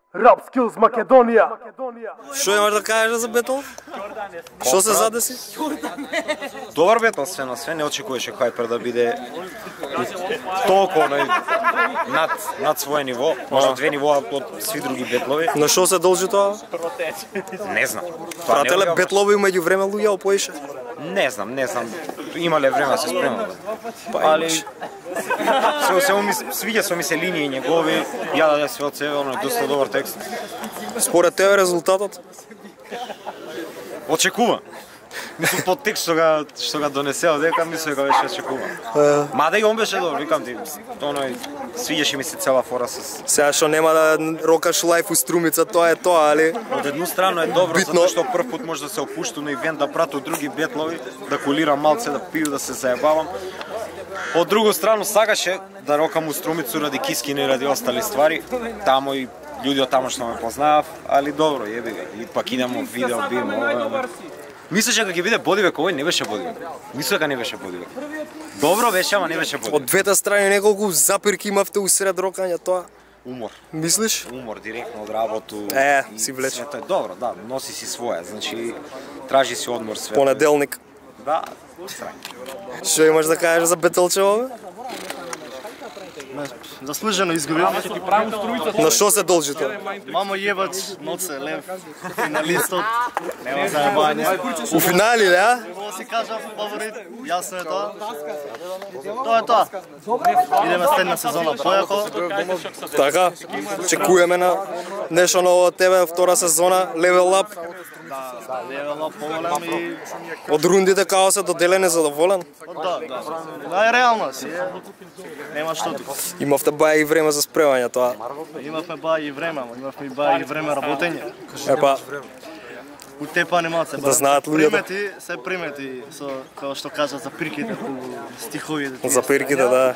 Rap Skills Македонија. Што имаш да кажеш за бетл? Што се задеси? Добар бетл све на све, не очекуваше Хайпер да биде толку над свое ниво, може 2 нивоа од сви други бетлови. На што се должи тоа? Не знам. Прателе бетлови меѓу време луѓе опоише? Не знам. Имале време да се спремат. Али свиѓа се ми се линии негови, ја даде све од себе, оно е доста добар текст. Според тебе резултатот? Очекува. Мислам под текст што га донесео дека мислам дека беше очекува. Мада и он беше добар, викам ти, оној свиѓаше ми се цела фора со. Сега што нема да рокаш лајф у струмица, тоа е тоа, али Од една страна е добро битно, затоа што прв пат може да се опушту на ивент, да прату други бетлови, да кулирам малце, да пију, да се заебавам. Од друга страна сакаше да рокам у струмицу ради кискина и ради остали ствари. Тамо и луѓе од тамо што ме познаав, али добро, еби га. И пак идемо видео, бим. Мислеше дека ќе биде бодивек, овој не беше бодивек. Мислам дека не беше бодивек. Добро беше, ама не беше бодивек. од двете страни неколку запирки имавте усред рокање тоа. Умор. Мислиш? Умор директно од работу. Си влече. Тоа е добро, да, носи си своја, значи тражи си одмор све. Понеделник. Да. Што имаш да кажеш за бетелчево? Заслужено изгуби. На што се должи тоа? Мамо јебач, ноце, лев, финалистот, нема заебање. У финали, да? Какво си кажа, фаворит, јасно е тоа. Тоа е тоа. Идеме следна сезона појако. Така, чекуваме на нешто ново од тебе, втора сезона, Level Up. Да, левела поголем и... Од рундите као се доделен е задоволен. Да. Да, е реално си, нема што тука. Имавте баја и време за спремање тоа. Имавме бај и време, ама имавме и бај и време работење. Епа, Утепани малце. Да знаат луѓето. Примети, се примети, со, како што кажат, за приките по стиховите. за пирките, да.